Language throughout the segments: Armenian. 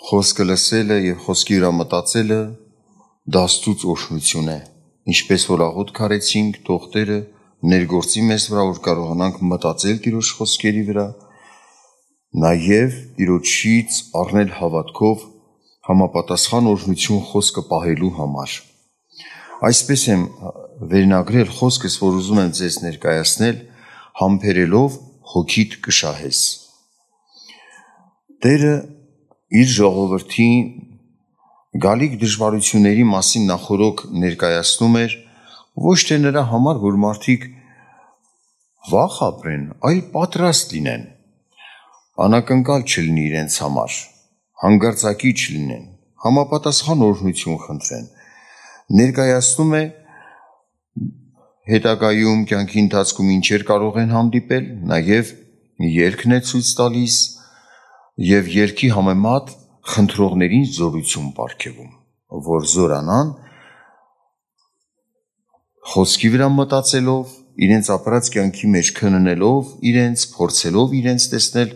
Խոսքը լսելը և խոսքի վրա մտածելը դաստուց օրհնություն է, ինչպես որ աղոթք արեցինք, թող Տերը ներգործի մեզ վրա, որ կարողանանք մտածել Տիրոջ խոսքերի վրա, նաև Տիրոջից առնել հավատքով համապատասխան օրհնություն խոսքը պահելու համար։ Այսպես եմ վերնագրել խոսքս, որ ուզում եմ ձեզ ներկայացնել, համբերելով հոգիդ կշահես։ Տերը իր ժողովրդին գալիք դժվարությունների մասին նախորոք ներկայացնում էր ոչ թե նրա համար, որ մարդիկ վախ ապրեն, այլ պատրաստ լինեն, անակնկալ չլինի իրենց համար, հանգարձակի չլինեն, համապատասխան օրհնություն խնդրեն, ներկայացնում է հետագայում կյանքի ընթացքում ինչեր կարող են հանդիպել, նաև երգն է ցույց տալիս և երգի համեմատ խնդրողներին զորություն պարգևում, որ զորանան խոսքի վրա մտածելով, իրենց ապրած կյանքի մեջ քննելով իրենց, փորձելով իրենց տեսնել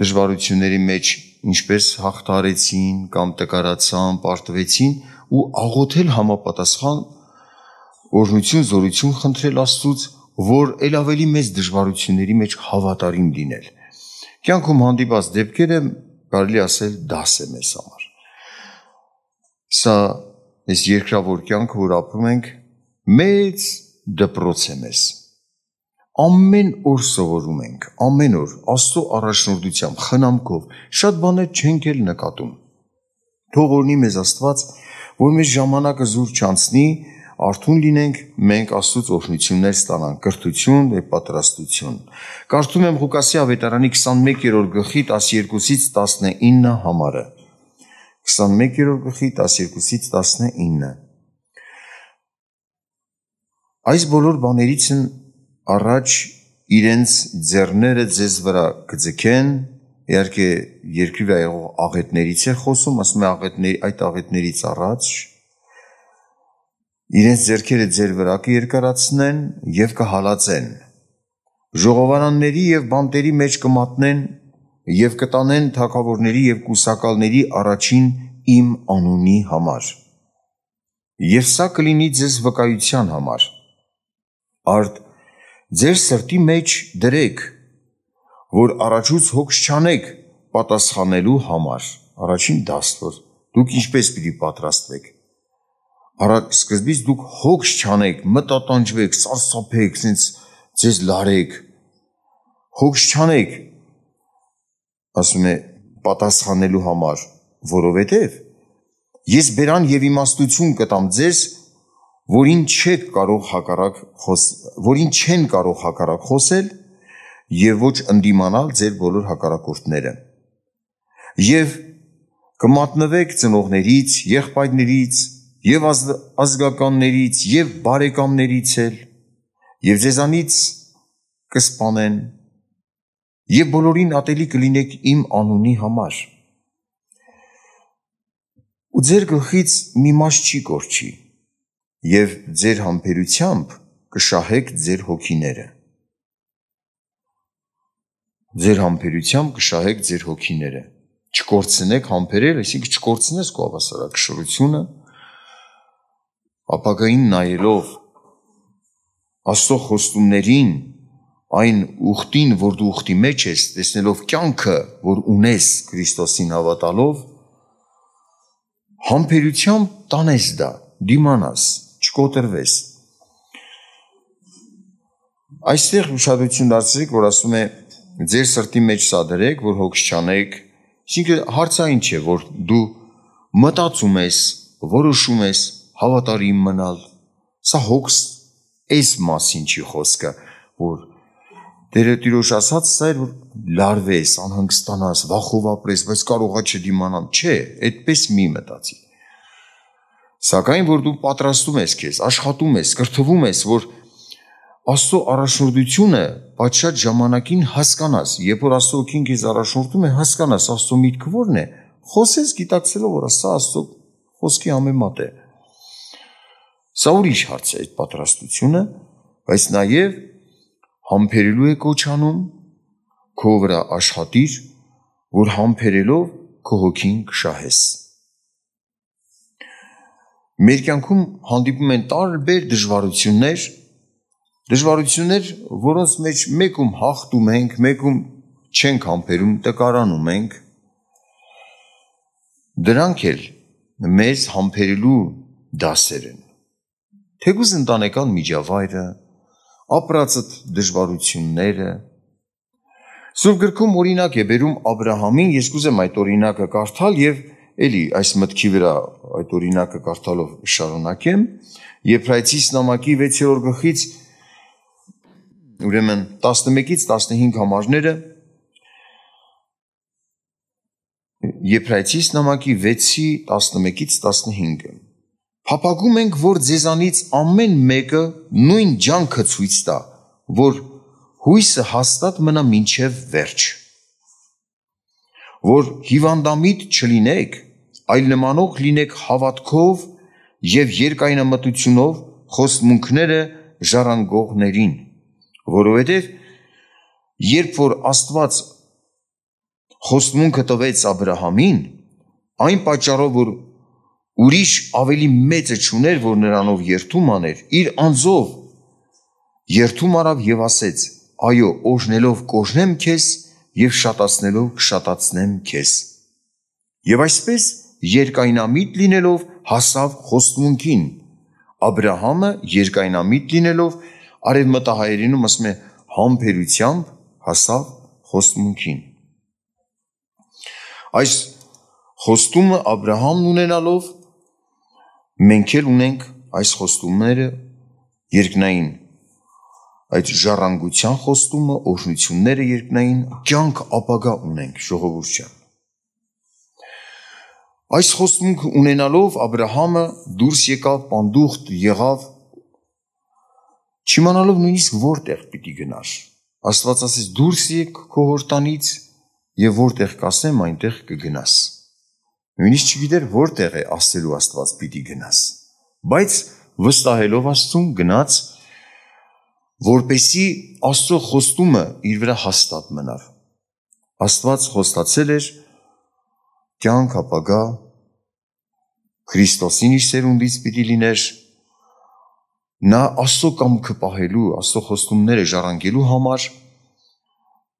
դժվարությունների մեջ ինչպես հաղթարեցին կամ տկարացան, պարտվեցին ու աղոթել համապատասխան օրհնություն, զորություն խնդրել Աստծուց, որ ել ավելի մեծ դժվարությունների մեջ հավատարիմ լինել։ Կյանքում հանդիպած դեպքերը կարելի ասել դաս է մեզ համար։ Սա այս երկրավոր կյանքը, որ ապրում ենք, մեծ դպրոց է մեզ։ Ամեն օր սովորում ենք, ամեն օր Աստծո առաջնորդությամբ, խնամքով, շատ բաներ չենք էլ նկատում։ Թող օրհնի մեզ Աստված, որ մեր ժամանակը զուր չանցնի, արթուն լինենք, մենք Աստծուց օրհնություններ ստանանք, կրթություն և պատրաստություն։ Կարդում եմ Ղուկասի ավետարանի 21-րդ գլխի 12-ից 19 համարը։ 21-րդ գլխի 12-ից 19։ Այս բոլոր բաներից առաջ իրենց ձեռները ձեզ վրա կձգեն, իհարկե երկրի վրա եղող աղետներից է խոսում, ասում է այդ աղետներից առաջ իրենց ձեռքերը ձեր վրա կերկարացնեն և կհալածեն, ժողովարանների և բանտերի մեջ կմատնեն և կտանեն թագավորների և կուսակալների առաջին իմ անունի համար, և սա կլինի ձեզ վկայության համար, արդ ձեր սրտի մեջ դրեք, որ առաջուց հոգս չանեք պատասխանելու համար, առաջին դաստ, որ դուք ինչպես պիտի պատրաստվեք, սկզբից դուք հոգս չանեք, մտատանջվեք, սարսափեք, ձեզ լարեք, հոգս չանեք, ասում է պատասխանելու համար, որովհետև ես բերան և իմաստություն կտամ ձեզ, որին չեն կարող հակառակ խոսել և ոչ ընդդիմանալ ձեր բոլոր հակառակորդները, և կմատնվեք ծնողներից, եղբայրներից, և ազգականներից, և բարեկամներից էլ, և ձեզանից կսպանեն, և բոլորին ատելի կլինեք իմ անունի համար, ու ձեր գլխից մի մաս չի կորչի, և ձեր համբերությամբ կշահեք ձեր հոգիները։ Ձեր համբերությամբ կշահեք ձեր հոգիները։ Չկորցնեք համբերել, այսինքն չկորցնես քո հավասարակշռությունը, ապագային նայելով Աստծո խոստումներին, այն ուխտին, որ դու ուխտի մեջ ես, տեսնելով կյանքը, որ ունես Քրիստոսին հավատալով, համբերությամբ տանես դա, դիմանաս, չկոտրվես։ Այստեղ ուշադրություն դարձրեք, որ ասում է ձեր սրտի մեջ սա դրեք, որ հոգս չանեք, այսինքն հարցային չէ, որ դու մտածում ես, որոշում ես հավատարիմ մնալ, սա հոգս այս մասին չի խոսքը, որ Տիրոջ ասած սա էր, որ լարվես, անհանգստանաս, վախով ապրես, բայց կարողա չդիմանալ, չէ, այդպես մի մտածի։ Սակայն, որ դու պատրաստում ես քեզ, աշխատում ես, կրթվում ես, որ Աստծո առաջնորդությունը պատշաճ ժամանակին հասկանաս, երբ որ Աստծո օգին քեզ առաջնորդում է, հասկանաս Աստծո միտքը որն է, խոսես գիտակցելով, որ սա Աստծո խոսքի համեմատ է։ Սա ուրիշ հարց է այդ պատրաստությունը, բայց նաև համբերելու է կոչ անում, քո վրա աշխատիր, որ համբերելով քո հոգին կշահես։ Մեր կյանքում հանդիպում են տարբեր դժվարություններ, որոնց մեջ մեկում հաղթում ենք, մեկում չենք համբերում, տկարանում ենք։ Դրանք էլ մեզ համբերելու դասեր են։ Թեկուզ ընտանեկան միջավայրը, ապրածդ դժվարությունները։ Սուրբ գրքում օրինակ է բերում Աբրահամին, ես կուզեմ այդ օրինակը կարդալ եւ էլի այս մտքի վրա այդ օրինակը կարդալով շարունակեմ։ Եբրայեցիս նամակի 6-րդ գլխից ուրեմն 11-ից 15 համարները Եբրայեցիս նամակի 6-ի 11-ից 15-ը Փափագում ենք, որ ձեզանից ամեն մեկը նույն ջանքը ցույց տա, որ հույսը հաստատ մնա մինչև վերջ, որ հիվանդամիտ չլինեք, այլ նմանող լինեք հավատքով և երկայնամտությունով խոստմունքները ժառանգողներին, որովհետև երբ որ Աստված խոստմունքը տվեց Աբրահամին, այն պատճառով, որ ուրիշ ավելի մեծը չուներ, որ նրանով երթում աներ, իր անձով երթում արավ և ասեց. այո, օրհնելով կօրհնեմ քեզ և շատացնելով կշատացնեմ քեզ։ Եվ այսպես երկայնամիտ լինելով հասավ խոստմունքին։ Աբրահամը երկայնամիտ լինելով արևմտահայերենում ասում է համբերությամբ հասավ խոստմունքին։ Այս խոստումը Աբրահամն ունենալով մենք էլ ունենք այս խոստումները երկնային, այդ ժառանգության խոստումը, օրհնությունները երկնային, կյանք ապագա ունենք, ժողովուրդ ջան։ Այս խոստումքը ունենալով Աբրահամը դուրս եկավ, պանդուխտ եղավ, չիմանալով նույնիսկ որտեղ պիտի գնար։ Աստված ասեց դուրս եկ քո հորտանից եւ որտեղ կասեմ այնտեղ կգնաս։ Նույնիսկ չգիտեր որտեղ է ասելու Աստված պիտի գնաս, բայց վստահելով Աստծուն գնաց, որպեսի Աստծո խոստումը իր վրա հաստատ մնար։ Աստված խոստացել էր կյանք ապագա, Քրիստոսին իր սերունդից պիտի լիներ, նա Աստծո կամքը պահելու, Աստծո խոստումները ժառանգելու համար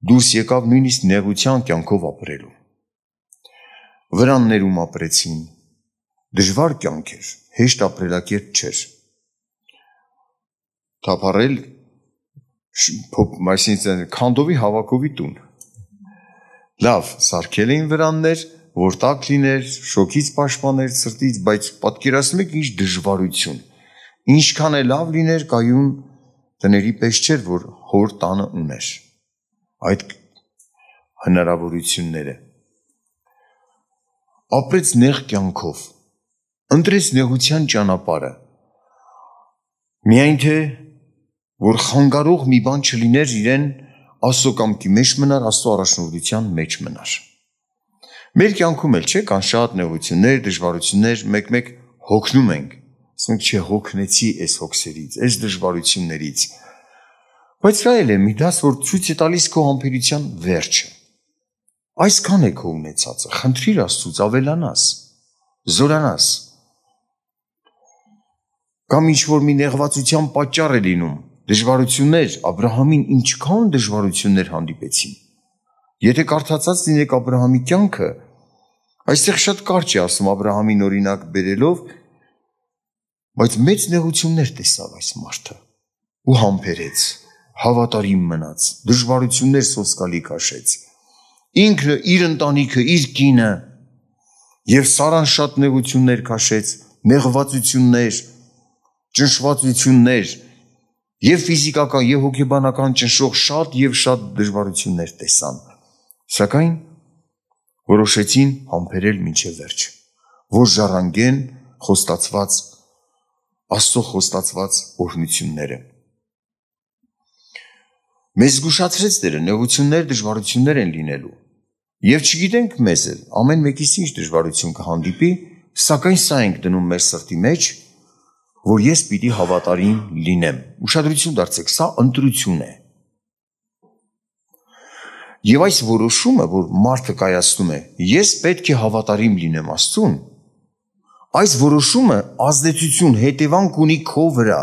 դուրս եկավ նույնիսկ նեղության կյանքով ապրելու։ Վրաններում ապրեցին, դժվար կյանք էր, հեշտ ապրելակերպ չէր։ Թափառել, այսինքն քանդովի հավաքովի տուն։ Լավ, սարքել էին վրաններ, որ տաք լիներ, շոքից պաշտպաներ, սրտից, բայց պատկերացնում եք ինչ դժվարություն։ Ինչքան է լավ լիներ կայուն տների պես չէր, որ հոր տանը ուներ այդ հնարավորությունները։ Ապրեց նեղ կյանքով, ընտրեց նեղության ճանապարհը, միայն թե որ խանգարող մի բան չլիներ իրեն Աստծո կամքի մեջ մնար, Աստծո առաջնորդության մեջ մնար։ Մեր կյանքում էլ չէ, կան շատ նեղություններ, դժվարություններ, մեկ-մեկ հոգնում ենք, ասում ենք չէ, հոգնեցի այս հոգսերից, այս դժվարություններից, բայց դա էլ է մի դաս, որ ցույց է տալիս քո համբերության վերջը։ Այսքան է քո ունեցածը, խնդրիր Աստծուց ավելանաս, զորանաս։ Կամ ինչ-որ մի նեղվածության պատճառ է լինում, դժվարություններ, Աբրահամին ինչքան դժվարություններ հանդիպեցին։ Եթե կարդացած լինեք Աբրահամի կյանքը, այստեղ շատ կարճ է ասում Աբրահամին օրինակ բերելով, բայց մեծ նեղություններ տեսավ այս մարդը ու համբերեց, հավատարիմ մնաց, դժվարություններ սոսկալի քաշեց։ Ինքը, իր ընտանիքը, իր կինը եւ Սարան շատ նեղություններ քաշեց, նեղվածություններ, ճնշվածություններ, եւ ֆիզիկական, եւ հոգեբանական ճնշող շատ եւ շատ դժվարություններ տեսան, սակայն որոշեցին համբերել մինչև վերջ, որ ժառանգեն խոստացված Աստծո խոստացված օրհնությունները։ Մեզ զգուշացրեց Տերը, նեղություններ, դժվարություններ են լինելու, եւ չգիտենք մեզ էլ ամեն մեկիս ինչ դժվարություն կհանդիպի, սակայն սա ենք դնում մեր սրտի մեջ, որ ես պիտի հավատարիմ լինեմ։ Ուշադրություն դարձեք, սա ընտրություն է։ Եվ այս որոշումը, որ մարդը կայացնում է, ես պետք է հավատարիմ լինեմ Աստծուն, այս որոշումը ազդեցություն, հետևանք ունի քո վրա։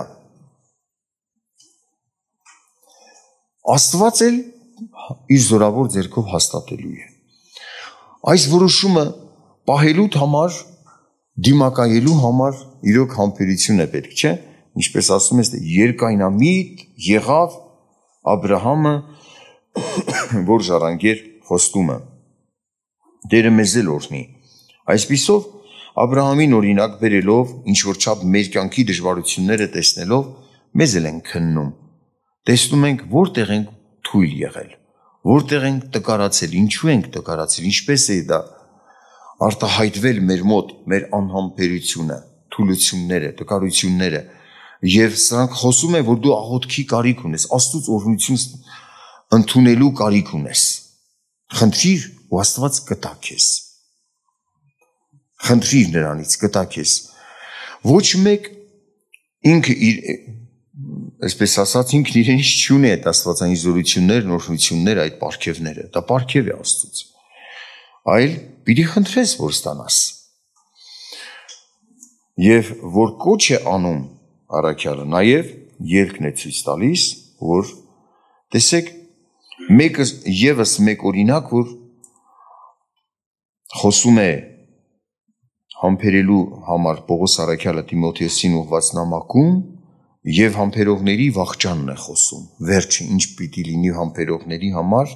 Աստված էլ իր զորավոր ձեռքով հաստատելու է։ Այս որոշումը պահելու համար, դիմակայելու համար իրոք համբերություն է պետք, չէ՞։ Ինչպես ասում ես, երկայնամիտ եղավ Աբրահամը, որ ժառանգեր խոստումը։ Տերը մեզ էլ օրհնի։ Այսպիսով Աբրահամին օրինակ բերելով, ինչ որ չափ մեր կյանքի դժվարությունները տեսնելով, մեզ էլ են քննում։ Տեսնում ենք, որտեղ ենք թույլ եղել, որտեղ ենք տկարացել, ինչու ենք տկարացել, ինչպես է դա արտահայտվել մեր մոտ, մեր անհամբերությունը, թուլությունները, տկարությունները, եւ սրանք խոսում է, որ դու աղոթքի կարիք ունես, Աստծուց օրհնություն ընդունելու կարիք ունես։ Խնդրիր ու Աստված կտա քեզ։ Խնդրիր նրանից, կտա քեզ։ Ոչ մեկ ինքը իր, այսպես ասած, ինքն իրենից չունի այդ աստվածային զորություններն, օրհնությունները, այդ պարգևները, դա պարգև է Աստծուց։ Այլ պիտի խնդրես, որ ստանաս։ Եվ որ կոչ է անում առաքյալը, նաև ելքն է ցույց տալիս, որ տեսեք, մեկը եւս մեկ օրինակ, որ խոսում է համբերելու համար Պողոս առաքյալը Տիմոթեոսին ուղղված նամակում եւ համբերողների վախճանն է խոսում։ Վերջը ինչ պիտի լինի համբերողների համար,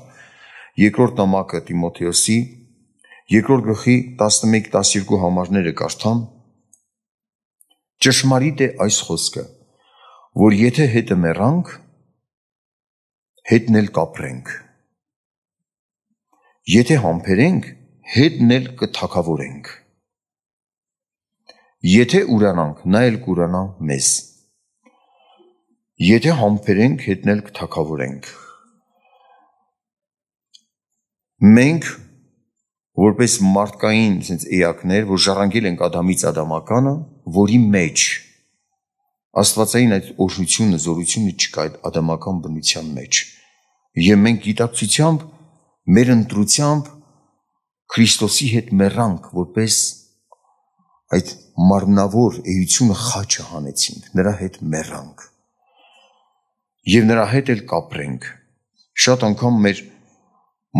երկրորդ նամակը Տիմոթեոսի, երկրորդ գլխի 11-12 համարները կարդամ։ Ճշմարիտ է այս խոսքը, որ եթե հետը մեռանք, հետն էլ կապրենք, եթե համբերենք, հետն էլ կթագավորենք, եթե ուրանանք, նա էլ կուրանա մեզ, եթե համբերենք, հետն էլ կթագավորենք։ Մենք, որպես մարդկային էակներ, որ ժառանգել ենք Ադամից Ադամականը, որի մեջ աստվածային այդ օրհնությունը, զորությունը չկա այդ ադամական բնության մեջ։ Եվ մենք գիտակցությամբ, մեր ընտրությամբ Քրիստոսի հետ մեռանք, որպես այդ մարմնավոր էությունը խաչը հանեցինք, նրա հետ մեռանք։ Եվ նրա հետ էլ կապրենք։ Շատ անգամ մեր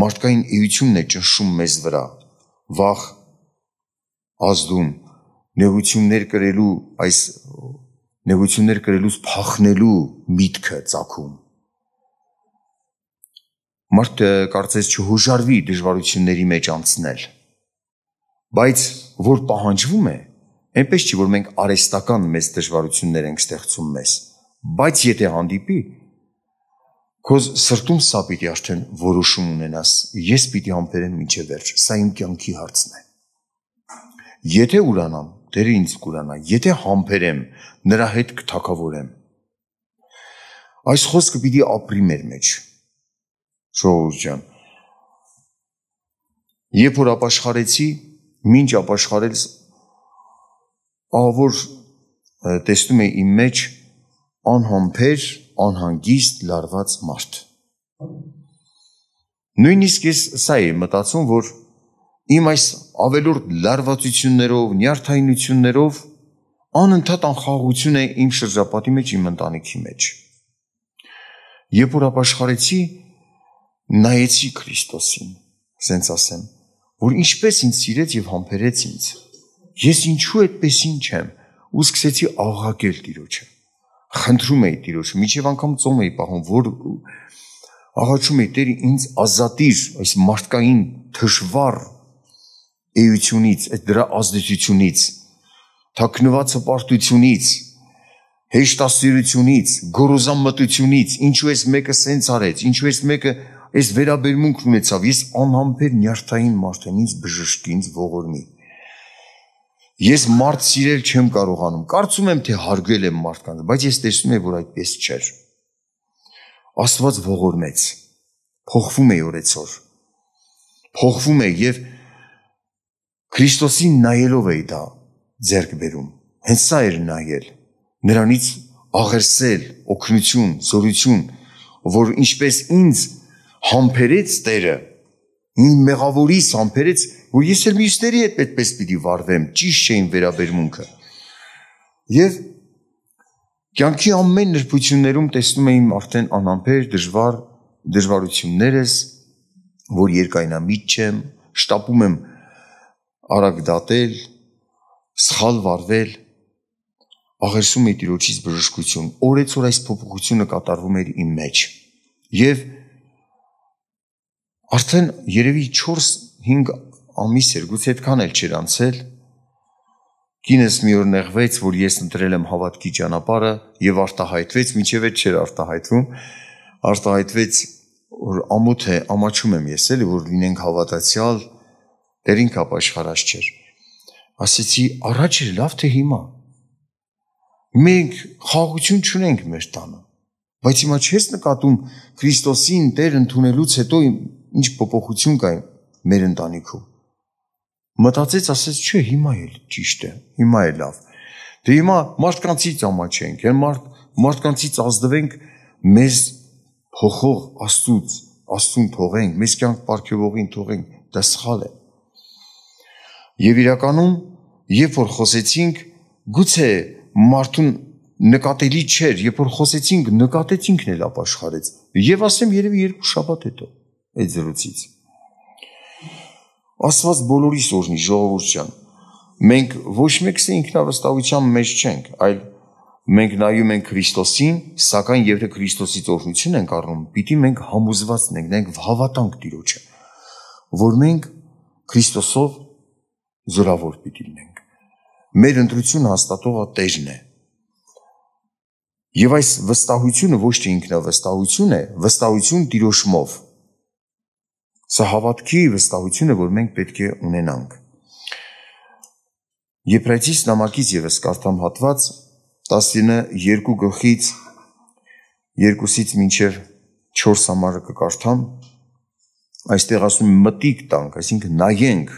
մարդկային էությունն է ճնշում մեզ վրա, վախ ազդում, նեղություններ կրելուց փախնելու միտքը ծագում։ Մարդը կարծես չհուժարվի դժվարությունների մեջ անցնել, բայց որ պահանջվում է, այնպես չի, որ մենք արհեստական մեծ դժվարություններ ենք ստեղծում մեզ, բայց եթե հանդիպի, քո սրտում սա պիտի արդեն որոշում ունենաս, ես պիտի համբերեմ մինչև վերջ, սա իմ կյանքի հարցն է։ Եթե ուրանամ, Տերը ինձ կուրանա, եթե համբերեմ, նրա հետ կթագավորեմ։ Այս խոսքը պիտի ապրի մեր մեջ, ժողովուրդ ջան։ Երբ որ ապաշխարեցի, մինչ ապաշխարել, ահավոր տեսնում էի իմ մեջ անհամբեր, անհանգիստ, լարված մարդ։ Նույնիսկ ես սա էի մտածում, որ իմ այս ավելորդ լարվածություններով, նյարդայնություններով անընդհատ անխաղաղություն է իմ շրջապատի մեջ, իմ ընտանիքի մեջ։ Երբ որ ապաշխարեցի, նայեցի Քրիստոսին, ասենց ասեմ, որ ինչպես ինձ սիրեց եւ համբերեց ինձ։ Ես ինչու այդպես ինչ եմ, ու սկսեցի աղաղակել Տիրոջը։ Խնդրում էի Տիրոջը, մինչև անգամ ծոմ էի պահում, որ աղաչում էի Տեր ինձ ազատիր այս մարդկային թշվառ էությունից, այդ դրա ազդեցությունից, թաքնված հպարտությունից, հեշտասիրությունից, գոռոզամտությունից, ինչու էս մեկը սենց արեց, ինչու էս մեկը այս վերաբերմունք ունեցավ, ես անհամբեր նյարդային մարդ եմ, ինձ բժշկի, ինձ ողորմի։ Ես մարդ սիրել չեմ կարողանում, կարծում եմ, թե հարգել եմ մարդկանց, բայց ես տեսնում եմ, որ այդպես չէր։ Աստված ողորմեց, փոխվում է օրեցօր, փոխվում է եւ Քրիստոսին նայելով էի դա ձեռք բերում, հենց սա էր նայել, նրանից աղերսել, օգնություն, զորություն, որ ինչպես ինձ համբերեց Տերը, իմ մեղավորիս համբերեց, որ ես էլ մյուսների հետ այդպես պիտի վարվեմ, ճիշտ չէին վերաբերմունքը։ Եվ կյանքի ամեն նրբություններում տեսնում եմ արդեն անհամբեր դժվարություններս, որ երկայնամիտ չեմ, շտապում եմ արագ դատել, սխալ վարվել, աղերսում էի Տիրոջից բժշկություն, օրեցօր այս փոփոխությունը կատարվում էր իմ մեջ։ Եվ արդեն երևի 4-5 ամիս էր, գուցե այդքան էլ չէր անցել, կինս մի օր նեղվեց, որ ես ընտրել եմ հավատքի ճանապարհը եւ արտահայտվեց, մինչև այդ չէր արտահայտվեց, որ ամոթ է, ամաչում եմ ես էլի, որ լինենք հավատացյալ, դերին կապ աշխարհած չէր։ Ասեցի, առաջ էր լավ, թե հիմա։ Մենք խաղաղություն չունենք մեր տանը, բայց հիմա չես նկատում Քրիստոսին Տեր ընդունելուց հետո ինչ փոփոխություն կա մեր ընտանիքում։ Մտածեց, ասեց, չէ, հիմա էլ ճիշտ է, հիմա է լավ։ Դե հիմա մարդկանցից ամաչենք, մարդկանցից ազդվենք, մեզ փոխող Աստծուն թողենք, մեզ կյանք պարգևողին թողենք, դա սխալ է։ Եվ իրականում, երբ որ խոսեցինք, գուցե մարդուն նկատելի չէր, երբ որ խոսեցինք, նկատեցինքն էլ ապաշխարեց։ Եվ ասեմ, երևի 2 շաբաթ հետո այդ զրույցից։ Աստված բոլորիս օրհնի, ժողովուրդ ջան։ Մենք ոչ մեկս ինքնավստահության մեջ չենք, այլ մենք նայում ենք Քրիստոսին, սակայն եթե Քրիստոսից օրհնություն ենք առնում, պիտի մենք համոզված ենք հավատանք Տիրոջը, որ մենք Քրիստոսով զորավոր պիտի լինենք։ Մեր ընտրությունը հաստատողը Տերն է։ Եվ այս վստահությունը ոչ թե ինքնավստահություն է, վստահություն Տիրոջմով։ Սա հավատքի վստահությունը, որ մենք պետք է ունենանք։ Եբրայեցիս նամակից ևս կարդամ հատված 12 գլխից 2-ից մինչև 4 համարը կկարդամ, այստեղ ասում մտիկ տանք, այսինքն նայենք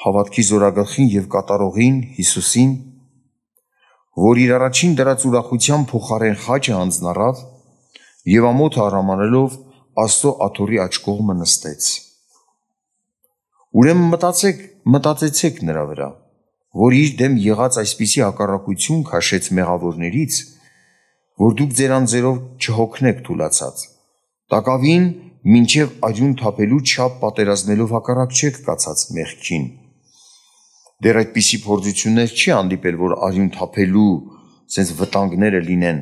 հավատքի զորագլխին եւ կատարողին Հիսուսին, որ իր առաջին դրած ուրախության փոխարեն խաչը հանձնառավ եւ ամոթ արամանելով Աստծո աթոռի աջ կողմը նստեց։ Ուրեմն մտածեցեք նրա վրա, որ իր դեմ եղած այսպիսի հակառակություն քաշեց մեղավորներից, որ դուք ձեր անձերով չհոգնեք թուլացած։ Տակավին մինչև արյուն թափելու չափ պատերազմելով հակառակ չեք կացած մեղքին։ Դեռ այդպիսի փորձություններ չի հանդիպել, որ արյուն թափելու սենց վտանգները լինեն,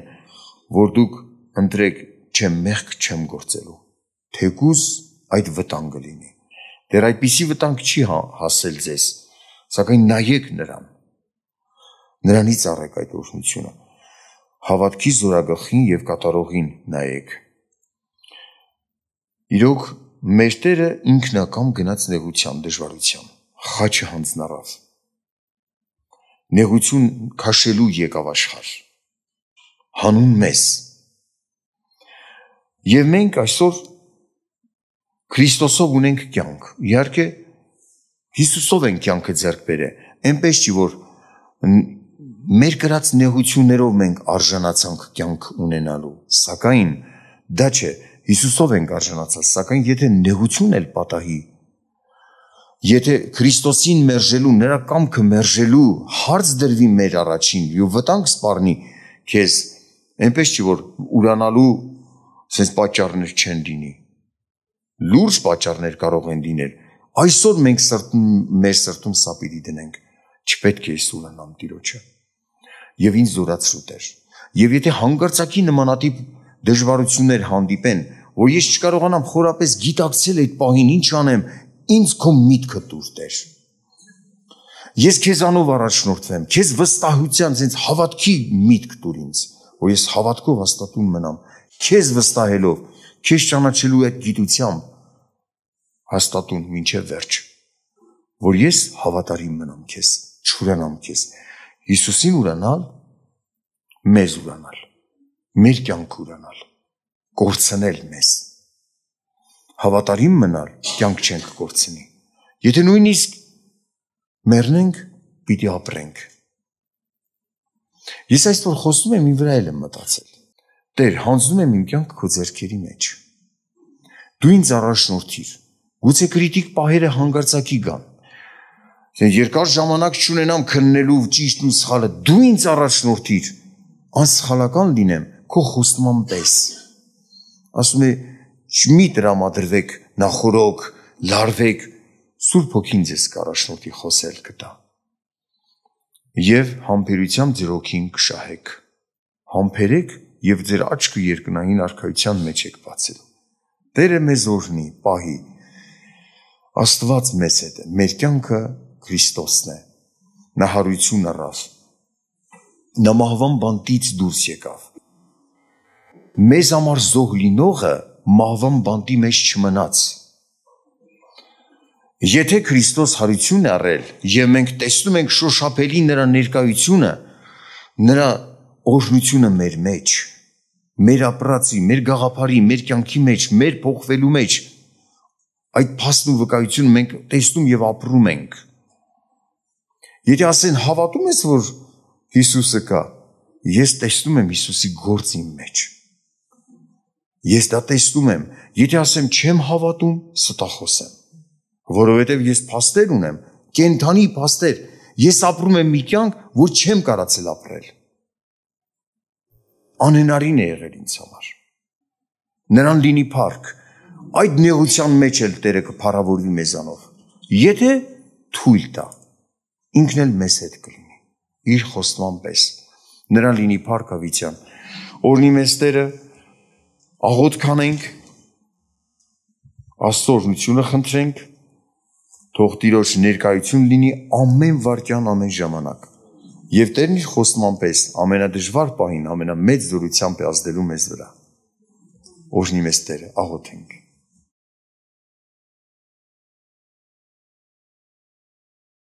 որ դուք ընտրեք չեմ մեղք չեմ գործելու, թեկուզ այդ վտանգը լինի։ Դեռ այդպիսի վտանգ չի հասել ձեզ, սակայն նայեք նրան, նրանից առեք այդ օրհնությունը, հավատքի զորագլխին եւ կատարողին նայեք։ Իրոք մեր Տերը ինքնակամ գնաց նեղության, դժվարության, խաչը հանձնառավ, նեղություն քաշելու եկավ աշխարհ, հանուն մեզ։ Եվ մենք այսօր Քրիստոսով ունենք կյանք, իհարկե Հիսուսով ենք կյանքը ձեռք բերել, այնպես չի, որ մեր կրած նեղություններով մենք արժանացանք կյանք ունենալու, սակայն դա չէ, Հիսուսով ենք արժանացած, սակայն եթե նեղություն էլ պատահի, եթե Քրիստոսին մերժելու, նրա կամքը մերժելու հարց դրվի մեր առաջին, եւ վտանգ սպառնի քեզ, այնպես չի, որ ուրանալու sense պատճառներ չեն լինի։ Լուրջ պատճառներ կարող են լինել։ Այսօր մենք մեր սրտում սա պիտի դնենք։ Չպետք է սուրանամ Տիրոջը։ Եվ ինձ զորացրու Տեր։ Եվ եթե հանգարցակի նմանատիպ դժվարություններ հանդիպեն, որ ես չկարողանամ խորապես գիտակցել այդ պահին ինչ անեմ, ինձ քո միտքը տուր Տեր։ Ես քեզանով առաջնորդվեմ, քեզ վստահության, sense հավատքի միտք տուր ինձ, որ ես հավատքով հաստատուն մնամ, քեզ վստահելով, քեզ ճանաչելու այդ գիտությամբ հաստատուն մինչև վերջ, որ ես հավատարիմ մնամ քեզ, չուրանամ քեզ, Հիսուսին ուրանալ, մեզ ուրանալ, մեր կյանք ուրանալ, կորցնել մեզ, հավատարիմ մնալ, կյանք չենք կորցնի, եթե նույնիսկ մեռնենք, պիտի ապրենք։ Ես այսօր խոսում եմ իմ վրա էլ եմ մտածել, Տեր, հանձնում եմ իմ կյանքը քո ձեռքերի մեջ, դու ինձ առաջնորդիր, գուցե կրիտիկ պահերը հանգարցակի գան, երկար ժամանակ չունենամ քննելու ճիշտն ու սխալը, դու ինձ առաջնորդիր, անսխալական լինեմ քո խոստման պես։ Ասում է, մի տրամադրվեք, նախորոք, լարվեք, Սուրբ Հոգին ձեզ կառաջնորդի խոսել կտա։ Եվ համբերությամբ ձեր հոգին կշահեք։ Համբերեք եւ ձեր աչքը երկնային արքայության մեջ եք բացել։ Տերը մեզ օրհնի, պահի։ Աստված մեզ հետ է, մեր կյանքը Քրիստոսն է։ Նա հարություն առավ։ Նա մահվան բանտից դուրս եկավ։ Մեզ համար զոհ լինողը մահվան բանտի մեջ չմնաց։ Եթե Քրիստոս հարություն է առել եւ մենք տեսնում ենք շոշափելի նրա ներկայությունը, նրա օրհնությունը մեր մեջ, մեր ապրածի, մեր գաղափարի, մեր կյանքի մեջ, մեր փոխվելու մեջ, այդ փաստն ու վկայությունը մենք տեսնում եւ ապրում ենք։ Եթե ասեն հավատում ես, որ Հիսուսը կա, ես տեսնում եմ Հիսուսի գործը իմ մեջ։ Ես դա տեսնում եմ, եթե ասեմ չեմ հավատում, ստախոս եմ, որովհետև ես փաստեր ունեմ, կենդանի փաստեր, ես ապրում եմ մի կյանք, որ չեմ կարացել ապրել։ Անհնարին է եղել ինձ համար։ Նրան լինի փառք, այդ նեղության մեջ էլ Տերը կփառավորվի մեզանով։ Եթե թույլ տա, ինքն էլ մեզ հետ կլինի, իր խոստման պես։ Նրան լինի փառք ավիթյան։ Օրհնի մեզ Տերը, աղոթք անենք, Աստծո օրհնությունը խնդրենք, թող Տիրոջ ներկայություն լինի ամեն վայրկյան, ամեն ժամանակ։ Եվ Տերն իր խոստման պես ամենադժվար պահին ամենամեծ զորությամբ է ազդելու մեզ վրա։ Օրհնի մեզ Տերը, աղոթենք։